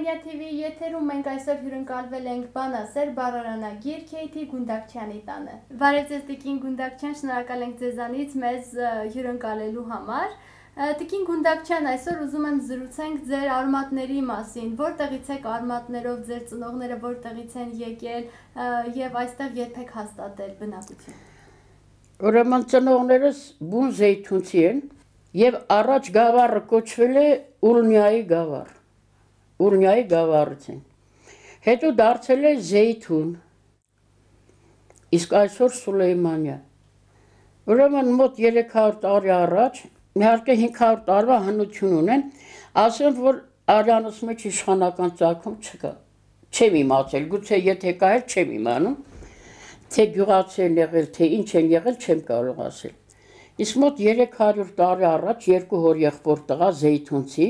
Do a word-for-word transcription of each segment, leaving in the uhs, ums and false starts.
Արմենիա Թի Վի եթերում մենք այսօր հյուրընկալվել ենք բանասեր բառարանագիր Քեյթի Գունդակչյանի տանը։ Բարև ձեզ Տիկին Գունդակչյան, շնորհակալ ենք ձեզանից մեզ հյուրընկալելու համար։ Տիկին Գունդակչյան, այսօր ուզում եմ զրուցենք ձեր արմատների մասին, որտեղից եք արմատներով, ձեր ծնողները որտեղից են եկել եւ այստեղ երբեք հաստատել բնակություն։ Ուրեմն ծնողներս բուն զեյթունցի են եւ առաջ գավառը կոչվել է Ուրնիայի գավառ։ Ուրնիայի գավառից են։ Հետո դարձել է Զեյթուն։ Իսկ այսօր Սուլեյմանիա։ Ուրեմն մոտ երեք հարյուր տարի առաջ, իհարկե հինգ հարյուր տարվա հնություն ունեն, ասեմ, որ արյանս մեջ իշխանական ծագում չկա։ Չեմ իմացել, գուցե եթե կա էլ չեմ իմանում, թե գյուղացի են եղել, թե ինչ են եղել, չեմ կարող ասել։ Իսկ մոտ երեք հարյուր տարի առաջ երկու հորեղբոր տղա Զեյթունցի,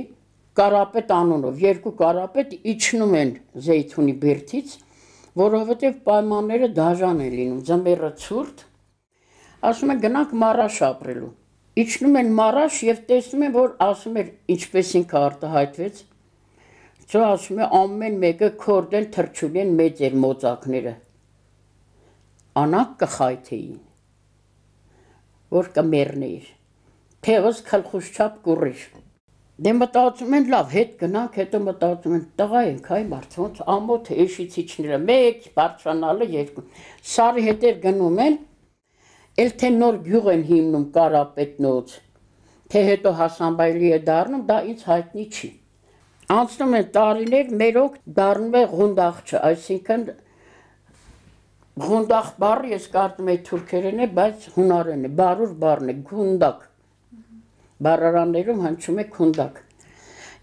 Կարապետ անունով, երկու կարապետ իջնում են Զեյթունի բերդից, որովհետև պայմանները դաժան են լինում, ձմեռը ցուրտ, ասում են գնանք Մարաշ ապրելու։ Իջնում են Մարաշ եւ տեսնում են, որ ասում էր ինչպես ինքը արտահայտվեց, ծո ասում է ամեն մեկը քորդեն թրջուլ են մեծ էր մոծակները։ Անակ կխայթեին, որ կմեռնեիր, թևս քլխուշչապ կուռիր։ Դե մտածում են լավ, հետ գնանք, հետո մտածում են տղա ենք, այ մարդ ոնց ամոթ է էշից իջները, մեկ բարձրանալը երկու։ Սարի հետև գնում են, էլ թե նոր գյուղ են հիմնում Կարապետնոց, թե հետո Հասանբայլի է դառնում, դա ինձ հայտնի չի։ Անցնում են տարիներ, մերոք դառնում է Ղունդախչը, այսինքն Ղունդախ բառը ես կարծում եմ թուրքերեն է, բայց հունարեն է, բարուր բառն է, Գունդակ։ Բառարաններում հնչում է Քունդակ։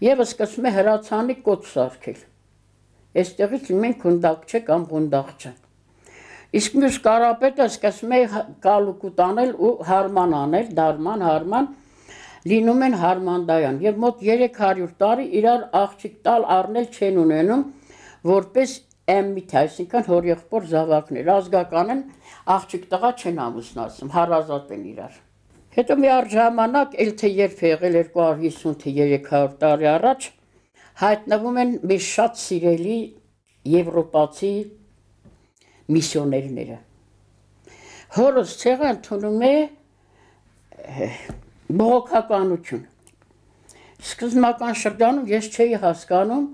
Եվ սկսում է հրացանի կոչ սարքել։ Այստեղից մենք Քունդակչե կամ Ղունդախչը։ Իսկ մյուս կարապետը սկսում է կալուկուտ անել ու հարման անել, դարման, հարման, լինում են հարմանդայան։ Եվ մոտ երեք հարյուր տարի իրար աղջիկ տալ առնել չեն ունենում, որպես էմմիթ, այսինքն հորեղբոր զավակներ, ազգական են, աղջիկ տղա չեն ամուսնացնում, հարազատ են իրար։ Հետո մի առժամանակ, էլ թե երբ եղել երկու հարյուր հիսուն թե երեք հարյուր տարի առաջ, հայտնվում են մեր շատ սիրելի եվրոպացի միսիոներները։ Հորս ցեղը ընդունում է բողոքականություն։ Սկզբնական շրջանում ես չէի հասկանում,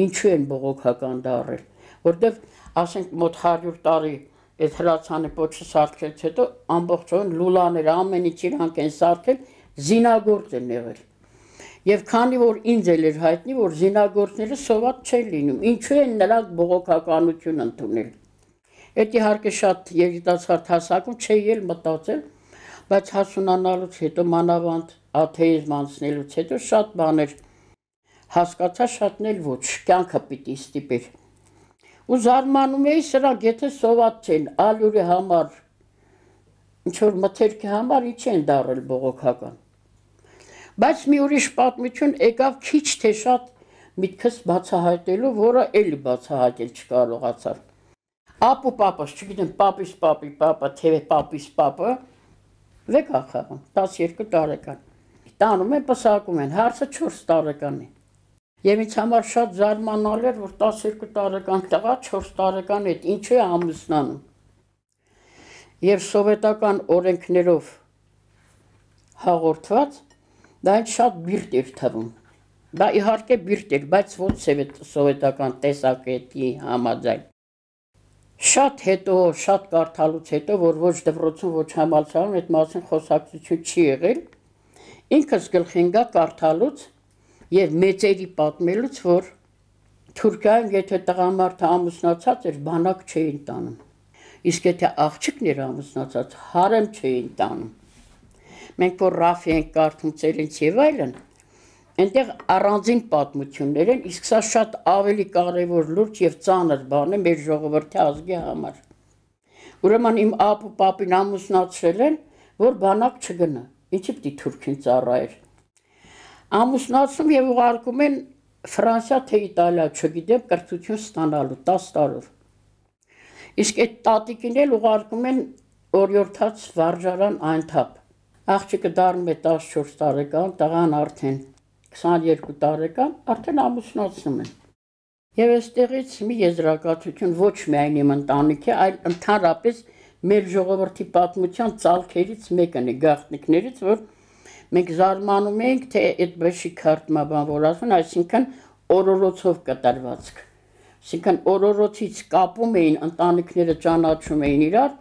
ինչու են բողոքական դառել, որտեղ ասենք մոտ հարյուր տարի այդ հրացանի պոչը սարքելուց հետո ամբողջովին լուլաները ամեն ինչ իրանք են սարքել, զինագործ են եղել։ Եվ քանի որ ինձ էլ էր հայտնի, որ զինագործները սոված չեն լինում, ինչու են նրանք բողոքականություն ընդունել։ Այդ իհարկե շատ երիտասարդ հասակում չէի էլ մտածել, բայց հասունանալուց հետո մանավանդ աթեիզմ անցնելուց հետո շատ բաներ հասկացա, շատն էլ ոչ, կյանքը պիտի ստիպեր։ Ու զարմանում էի սրանք, եթե սոված չեն, ալյուրի համար, ինչ-որ մթերքի համար ինչ են դառել բողոքական։ Բայց մի ուրիշ պատմություն եկավ քիչ թե շատ միտքս բացահայտելու, որը էլի բացահայտել չկարողացավ։ Ապու պապս, չգիտեմ, պապիս պապի պապը, թե պապիս պապը, վեկա խաղում, տասներկու տարեկան։ Տանում են, պսակում են, հարցը չորս տարեկան է։ Եվ ինձ համար շատ զարմանալ էր, որ տասներկու տարեկան տղա չորս տարեկան հետ ինչու է ամուսնանում։ Եվ սովետական օրենքներով հաղորդված, դա ինձ շատ բիրտ էր թվում։ Դա իհարկե բիրտ էր, բայց ոչ սովետական տեսակետի համաձայն։ Շատ հետո, շատ կարդալուց հետո, որ ոչ դպրոցում, ոչ համալսարանում այդ մասին խոսակցություն չի եղել, ինքս գլխի ընկա կարդալուց եւ մեծերի պատմելուց, որ Թուրքիայում եթե տղամարդը ամուսնացած էր, բանակ չէին տանում։ Իսկ եթե աղջիկն էր ամուսնացած, հարեմ չէին տանում։ Մենք որ Ռաֆի ենք կարդում ծերենց եւ այլն, այնտեղ առանձին պատմություններ են, իսկ սա շատ ավելի կարևոր լուրջ եւ ծանր բան է մեր ժողովրդի ազգի համար։ Ուրեմն իմ ապու պապին ամուսնացրել են, որ բանակ չգնա։ Ինչի՞ պիտի թուրքին ծառայեր։ Ամուսնացում եւ ուղարկում են Ֆրանսիա թե Իտալիա, չգիտեմ, կրթություն ստանալու տասը տարով։ Իսկ այդ տատիկին էլ ուղարկում են օրիորդաց վարժարան այնթափ։ Աղջիկը դառնում է տասնչորս տարեկան, տղան արդեն քսաներկու տարեկան, արդեն ամուսնացնում են։ Եվ այստեղից մի եզրակացություն ոչ միայն իմ ընտանիքի, այլ ընդհանրապես մեր ժողովրդի պատմության ցալքերից մեկն է, գաղտնիքներից, որ մենք զարմանում ենք, թե այդ բեշի քարտմաբան որ ասում, այսինքն օրորոցով կտրվածք։ Այսինքն օրորոցից կապում էին ընտանիքները, ճանաչում էին իրար,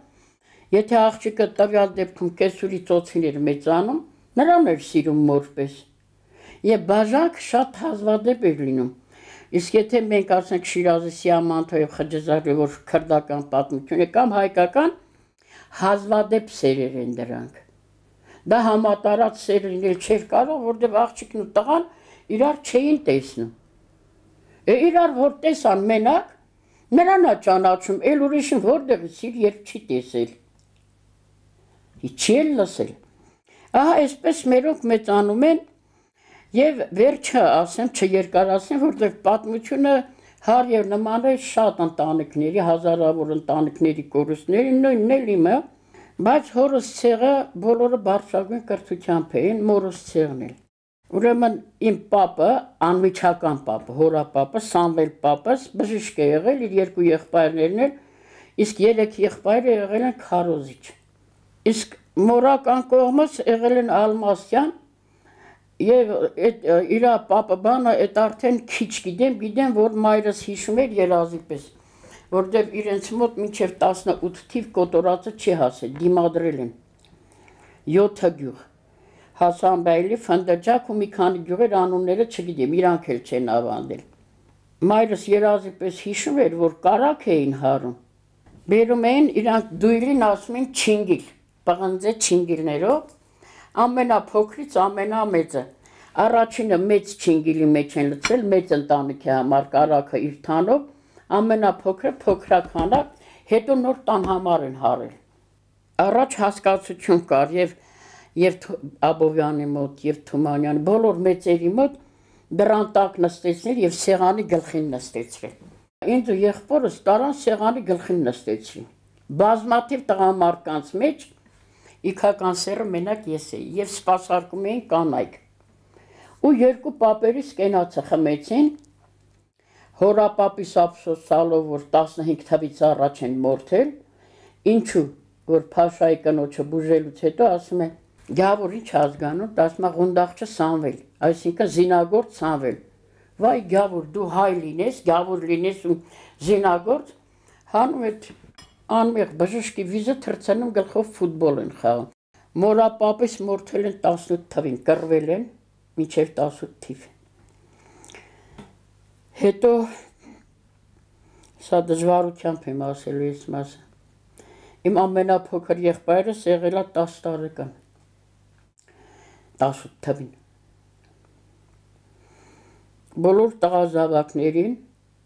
եթե աղջիկը տվյալ դեպքում կեսուրի ծոցին էր մեծանում, նրան էր սիրում մորպես։ Եվ բաժակ շատ հազվադեպ էր լինում։ Իսկ եթե մենք ասենք Շիրազի Սիամանթո եւ Խճեզարի որ քրդական պատմություն է կամ հայկական, հազվադեպ սերեր են դրանք։ Դա համատարած սեր լինել չէր կարող, որտեղ աղջիկն ու տղան իրար չէին տեսնում։ Է իրար որ տեսան մենակ, նրան է ճանաչում, էլ ուրիշին որտեղ սիր երբ չի տեսել։ Չի էլ լսել։ Ահա այսպես մերոնք մեծանում են եւ վերջը ասեմ, չերկարացնեմ, որտեղ պատմությունը հար եւ նման է շատ ընտանիքների, հազարավոր ընտանիքների կորուստների, նույնն էլ իմը, բայց հորս ցեղը բոլորը բարձրագույն կրթությամբ էին, մորս ցեղն էլ։ Ուրեմն իմ պապը, անմիջական պապը, հորապապը, Սամվել պապս բժիշկ է եղել, իր երկու եղբայրներն էլ, իսկ երեք եղբայրը եղել են քարոզիչ։ Իսկ մորական կողմս եղել են Ալմասյան եւ այդ իր պապը բանը այդ արդեն քիչ գիտեմ, գիտեմ որ մայրս հիշում էր երազի պես, որտեղ իրենց մոտ մինչեւ տասնութ թիվ կոտորածը չի հասել, դիմադրել են յոթ գյուղ, Հասանբայելի, Ֆնդրջակ ու մի քանի գյուղեր անունները չգիտեմ, իրանք էլ չեն ավանդել։ Մայրս երազի պես հիշում էր, որ կարակ էին հարում, բերում էին իրանք դույլին ասում են չինգիլ, պղնձե չինգիլներով, ամենափոքրից ամենամեծը, առաջինը մեծ չինգիլի մեջ են լցել, մեծ ընտանիքի համար կարակը իր թանով, ամենափոքրը փոքրականակ, հետո նոր տան համար են հարել։ Առաջ հասկացություն կար եւ եւ Աբովյանի մոտ եւ Թումանյանի բոլոր մեծերի մոտ դրան տակ նստեցնել եւ սեղանի գլխին նստեցրել։ Ինձ ու եղբորս տարան սեղանի գլխին նստեցին։ Բազմաթիվ տղամարդկանց մեջ իքական սերը մենակ ես էի եւ սպասարկում էին կանայք։ Ու երկու պապերիս կենացը խմեցին, հորապապիս ափսոսալով, որ տասնհինգ թվից առաջ են մորթել, ինչու, որ Փաշայի կնոջը բուժելուց հետո ասում է, գավուր ինչ ազգանում, ասում է Ղունդախչը Սամվել, այսինքն զինագործ Սամվել։ Վայ գավուր, դու հայ լինես, գավուր լինես ու զինագործ, հանում այդ անմեղ բժշկի վիզը թրցնում գլխով ֆուտբոլ են խաղում։ Մորապապիս մորթել են տասնութ թվին, կռվել են մինչև տասնութ թիվ։ Հետո սա դժվարությամբ եմ ասելու ես մասը։ Իմ ամենափոքր եղբայրս եղել է տասը տարեկան, տասնութ թվին։ Բոլոր տղազավակներին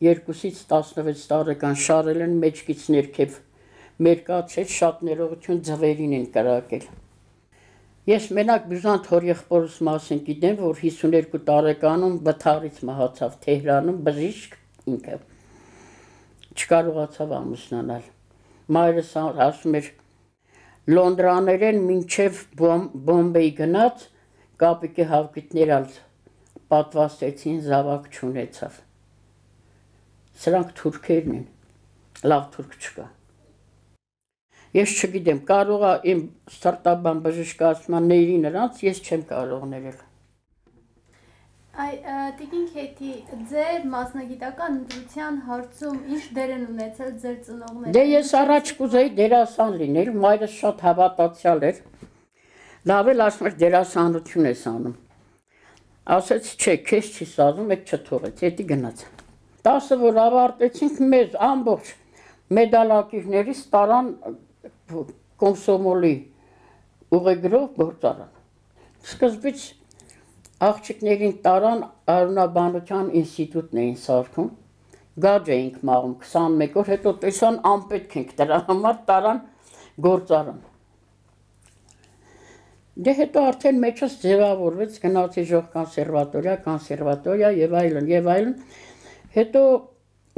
երկուսից տասնվեց տարեկան շարել են մեջքից ներքև, մերկացել շատ ներողություն ձվերին են կրակել։ Ես մենակ բյուզանտ հոր եղբորս մասին գիտեմ, որ հիսուներկու տարեկանում վթարից մահացավ Թեհրանում բժիշկ ինքը, չկարողացավ ամուսնանալ։ Մայրս ասում էր Լոնդրաներեն մինչև Բոմբեի գնաց, կապիկի հավկիթներ ալ պատվաստեցին, զավակ չունեցավ։ Սրանք թուրքերն են, լավ թուրք չկա։ Ես չգիտեմ, կարող է իմ սրտաբան բժիշկը ասում է ների նրանց, ես չեմ կարող ներել։ Այ Տիկին Քեթի, ձեր մասնագիտական ընտրության հարցում ինչ դեր են ունեցել ձեր ծնողները։ Դե ես առաջ կուզեի դերասան լինել, մայրս շատ հավատացյալ էր։ Լավ էլ ասում էր դերասանություն ես անում։ Ասեց, չէ, քեզ չի սազում, այդ չթողեց, հետի գնաց։ Տասը որ ավարտեցինք, մեզ ամբողջ մեդալակիրներից տարան կոմսոմոլի ուղեգրով գործարան։ Սկզբից աղջիկներին տարան Արունաբանության ինստիտուտն էին սարքում, գաջ էինք մաղում քսանմեկ օր, հետո տեսան անպետք ենք դրա համար տարան գործարան։ Դե հետո արդեն մեջս ձևավորվեց, գնացի ժող կոնսերվատորիա, կոնսերվատորիա եւ այլն եւ այլն։ Հետո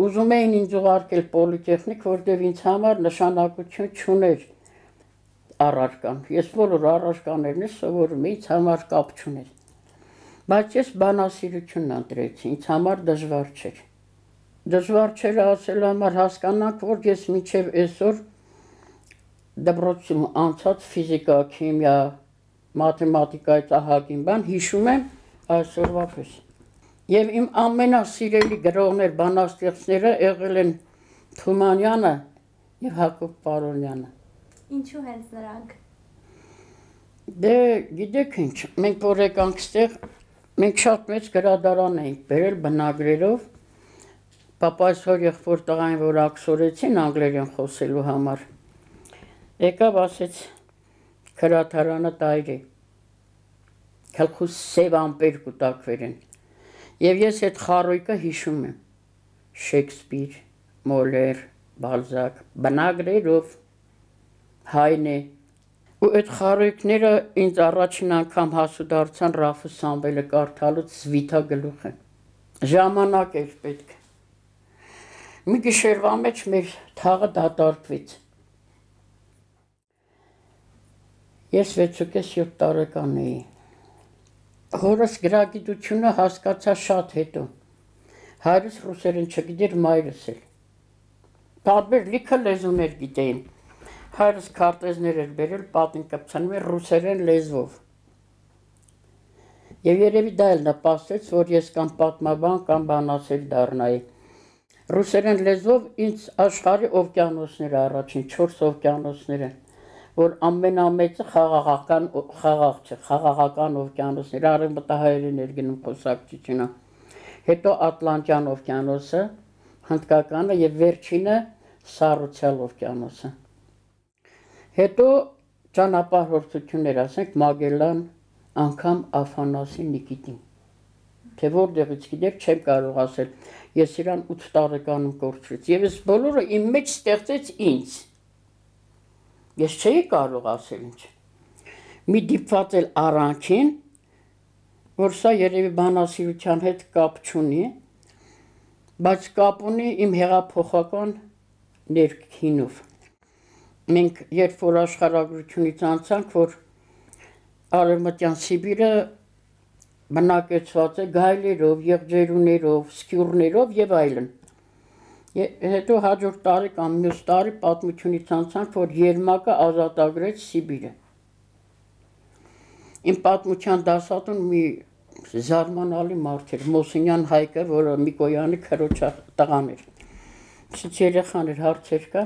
ուզում էին ինձ ուղարկել պոլիտեխնիկ, որտեղ ինձ համար նշանակություն չուներ առարկան։ Ես բոլոր առարկաներն սովորում էի, ինձ համար կապ չուներ։ Բայց ես բանասիրությունն ընտրեցի, ինձ համար դժվար չէր։ դժվար չէր ասել համար հասկանանք, որ ես մինչև այսօր դպրոցում անցած ֆիզիկա, քիմիա, մաթեմատիկայից ահագին բան հիշում եմ այսօրվա պես։ Եվ իմ ամենասիրելի գրողներ, բանաստեղծները եղել են Թումանյանը եւ Հակոբ Պարոնյանը։ Ինչու հենց նրանք։ Դե գիտեք ինչ, մենք որ եկանք ստեղ, մենք շատ մեծ գրադարան էինք բերել բնագրերով, պապայս հոր եղբոր տղային, որ աքսորեցին անգլերեն խոսելու համար, եկավ ասեց գրադարանը տայրի, քլխուս սև ամպեր կուտակվեր են, եւ ես այդ խարույկը հիշում եմ, Շեքսպիր, Մոլեր, Բալզակ, բնագրերով, Հայնե, ու այդ խարույկները ինձ առաջին անգամ հասու դարձան Ռաֆը Սամվելը կարդալուց զվիթա գլուխը։ Ժամանակ էր պետք։ Մի գիշերվա մեջ մեր թաղը դատարկվեց։ Ես վեցուկես յոթ տարեկան էի։ Հորս գրագիտությունը հասկացա շատ հետո։ Հայրս ռուսերեն չգիտեր, մայրս էլ։ Տարբեր լիքը լեզուներ գիտեին։ Հայրս քարտեզներ էր բերել, պատին կպցանում էր ռուսերեն լեզվով։ Եվ երևի դա էլ նպաստեց, որ ես կամ պատմաբան, կամ բանասեր դառնայի։ Ռուսերեն լեզվով ինձ աշխարհի օվկիանոսները առաջին չորս օվկիանոսները, որ ամենամեծը խաղաղական խաղաղ չէ, խաղաղական օվկիանոսները, արևմտահայերեն էր գնում խոսակցությունը։ Հետո Ատլանտյան օվկիանոսը, Հնդկականը եւ վերջինը Սառուցյալ օվկիանոսը։ Հետո ճանապարհորդություններ, ասենք Մագելլան, անգամ Աֆանասի Նիկիտին։ Թե որտեղից գիտեք, չեմ կարող ասել։ Ես իրան ութ տարեկանում կորցրեցի եւ այս բոլորը իմ մեջ ստեղծեց ինձ։ Ես չէի կարող ասել ինչ։ Մի դիպված էլ առանքին, որ սա երևի բանասիրության հետ կապ չունի, բայց կապ ունի իմ հեղափոխական ներքինով։ Մենք երբ որ աշխարհագրությունից անցանք, որ Արևմտյան Սիբիրը բնակեցված է գայլերով, եղջերուներով, սկյուրներով եւ այլն։ Հետո հաջորդ տարի կամ մյուս տարի պատմությունից անցանք, որ Երմակը ազատագրեց Սիբիրը։ Իմ պատմության դասատուն մի զարմանալի մարդ էր, Մոսինյան Հայկը, որը Միկոյանի քրոջ տղան էր։ Ցույց երեխան էր, հարցեր կա։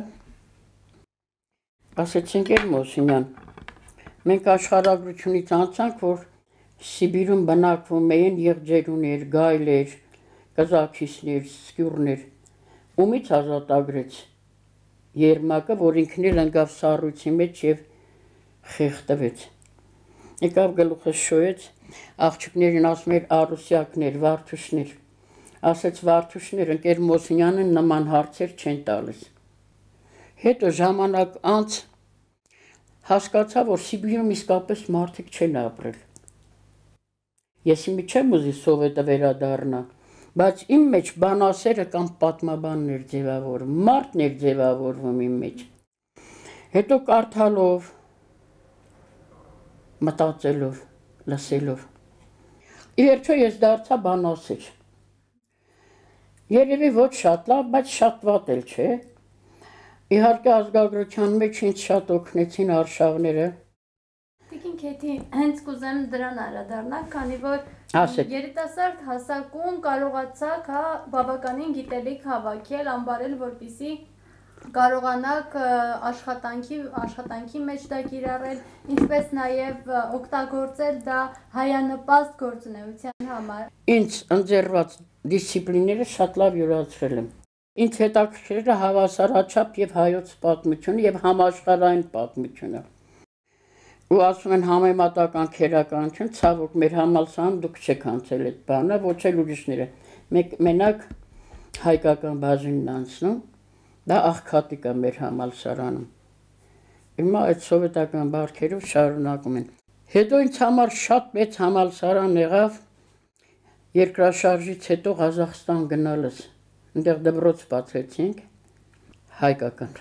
Ասեցինք էր Մոսինյան, մենք աշխարհագրությունից անցանք, որ Սիբիրում բնակվում էին եղջերուներ, գայլեր, կազաքիսներ, սկյուրներ։ Ումից ազատագրեց Երմակը, որ ինքն էլ ընկավ սառույցի մեջ եւ խեղդվեց։ Եկավ գլուխը շոյեց, աղջիկներին ասում էր արուսյակներ, վարդուշներ։ Ասեց վարդուշներ, ընկեր Մոսինյանը նման հարցեր չեն տալիս։ Հետո ժամանակ անց հասկացա, որ Սիբիրում իսկապես մարդիկ չեն ապրել։ Ես իմի չեմ ուզի սովետը վերադառնա, բայց իմ մեջ բանասերը կամ պատմաբանն էր ձևավորվում, մարդն էր ձևավորվում իմ մեջ։ Հետո կարդալով, մտածելով, լսելով։ Ի վերջո ես դարձա բանասեր։ Երևի ոչ շատ լավ, բայց շատ վատ էլ չէ։ Իհարկե ազգագրության մեջ ինձ շատ օգնեցին արշավները։ Տիկին Քեթի, հենց կուզեմ դրան անդրադառնալ, քանի որ երիտասարդ հասակում կարողացաք հա բավականին գիտելիք հավաքել, ամբարել, որպեսզի կարողանաք աշխատանքի աշխատանքի մեջ դա կիրառել, ինչպես նաև օգտագործել դա հայանպաստ գործունեության համար։ Ինձ ընձեռված դիսցիպլինները շատ լավ յուրացրել եմ։ Ինձ հետաքրքրել է հավասարաչափ եւ հայոց պատմությունը եւ համաշխարհային պատմությունը։ Ու ասում են համեմատական քերականություն, ցավոք մեր համալսարանում դուք չեք անցել այդ բանը, ոչ էլ ուրիշները։ Մեկ մենակ հայկական բաժինն անցնում, դա աղքատիկ է մեր համալսարանում։ Հիմա այդ սովետական բարքերով շարունակում են։ Հետո ինձ համար շատ մեծ համալսարան եղավ երկրաշարժից հետո Ղազախստան գնալս։ Այնտեղ դպրոց բացեցինք հայկական։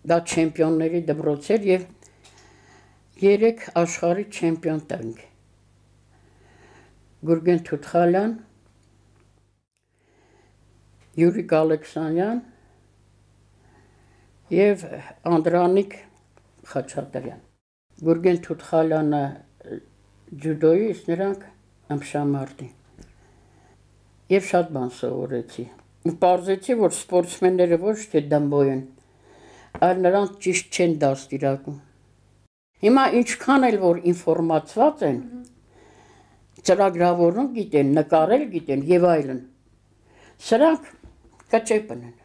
Դա չեմպիոնների դպրոց էր եւ երեք աշխարհի չեմպիոն տանք։ Գուրգեն Թութխալյան Յուրիկ Ալեքսանյան եւ Անդրանիկ Խաչատրյան։ Գուրգեն Թութխալյանը ջյուդոյի, իսկ նրանք ամշամարտի։ Եվ շատ բան սովորեցի։ Ու պարզեցի, որ սպորտսմենները ոչ թե դմբոյ են, այլ նրանք ճիշտ չեն դաստիարակում։ Հիմա ինչքան էլ որ ինֆորմացված են, ծրագրավորում գիտեն, նկարել գիտեն եւ այլն։ Սրանք կճեպն են։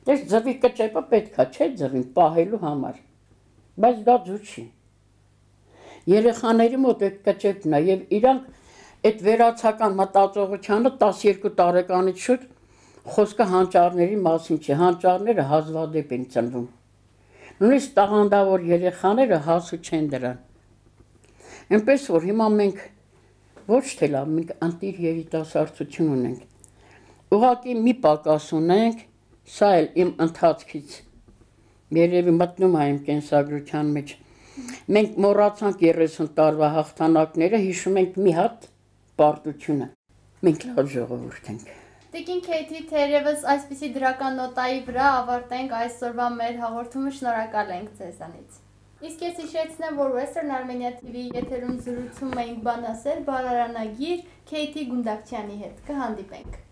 Դες ձվի կճեպը պետքա չէ ձվին պահելու համար, բայց դա ձու չի։ Երեխաների մոտ այդ կճեպն է եւ իրանք այդ վերացական մտածողությանը տասներկու տարեկանից շուտ խոսքը հանճարների մասին չի, հանճարները հազվադեպ են ծնվում։ Նույնիսկ տաղանդավոր երեխաները հասու չեն դրան։ Այնպես որ հիմա մենք ոչ թե լավ, մենք անտիր երիտասարդություն ունենք։ Ուղղակի մի պակաս ունենք, սա էլ իմ ընթացքից երևի մտնում է իմ կենսագրության մեջ։ Մենք մոռացանք երեսուն տարվա հաղթանակները, հիշում ենք մի հատ պարտությունը։ Մենք լավ ժողովուրդ ենք։ Տիկին Քեյթի, թերևս այսպիսի դրական նոտայի վրա ավարտենք այսօրվա մեր հաղորդումը, շնորհակալ ենք ձեզանից։ Իսկ ես հիշեցնեմ, որ Western Armenia T V եթերում զրուցում էինք բանասեր բարարանագիր Քեյթի Գունդակչյանի հետ։ Կհանդիպենք։